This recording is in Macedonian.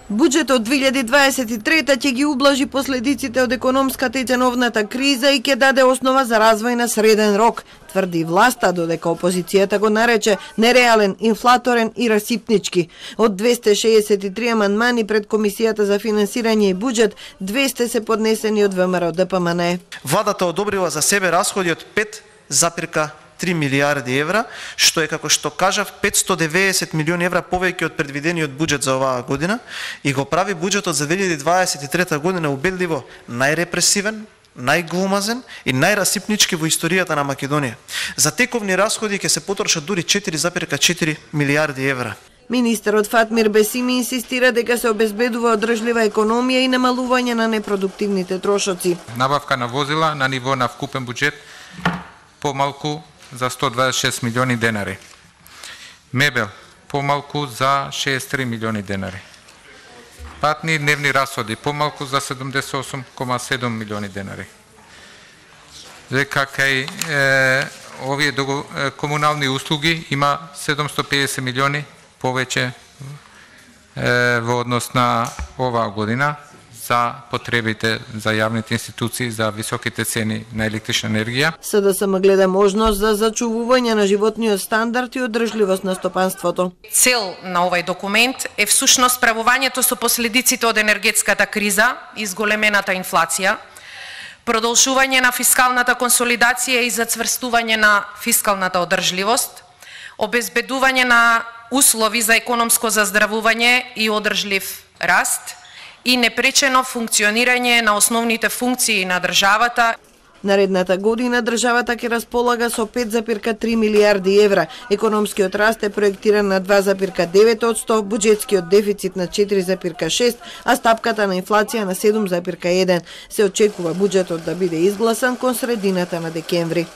Буџетот 2023 ќе ги ублажи последиците од економската и ценовната криза и ќе даде основа за развој на среден рок, тврди власта, додека опозицијата го нарече нереален, инфлаторен и расипнички. Од 263 амандмани пред Комисијата за финансирање и буџет, 200 се поднесени од ВМРО ДПМН. Владата одобрила за себе расходи од 5,3 милиарди евра, што е, како што кажав, 590 милиони евра повеќе од предвидениот буџет за оваа година и го прави буџетот за 2023 година убедливо најрепресивен, најгломазен и најрасипнички во историјата на Македонија. За тековни расходи ќе се потрошат дури 4,4 милиарди евра. Министерот Фатмир Бесими инсистира дека се обезбедува одржлива економија и намалување на непродуктивните трошоци. Набавка на возила на ниво на вкупен буџет помалку за 126 милиони денари. Мебел помалку за 63 милиони денари. Патни и дневни расходи помалку за 78,7 милиони денари. Дека кај овие комунални услуги има 750 милиони повеќе во однос на оваа година за потребите за јавните институции за високите цени на електрична енергија. СДСМ гледа можност за зачувување на животниот стандард и одржливост на стопанството. Цел на овај документ е всушност справувањето со последиците од енергетската криза и зголемената инфлација, продолжување на фискалната консолидација и зацврстување на фискалната одржливост, обезбедување на услови за економско заздравување и одржлив раст и непречено функционирање на основните функции на државата. Наредната година државата ќе располага со 5,3 милиарди евра. Економскиот раст е проектиран на 2,9%, буџетскиот дефицит на 4,6%, а стапката на инфлација на 7,1%. Се очекува буџетот да биде изгласан кон средината на декември.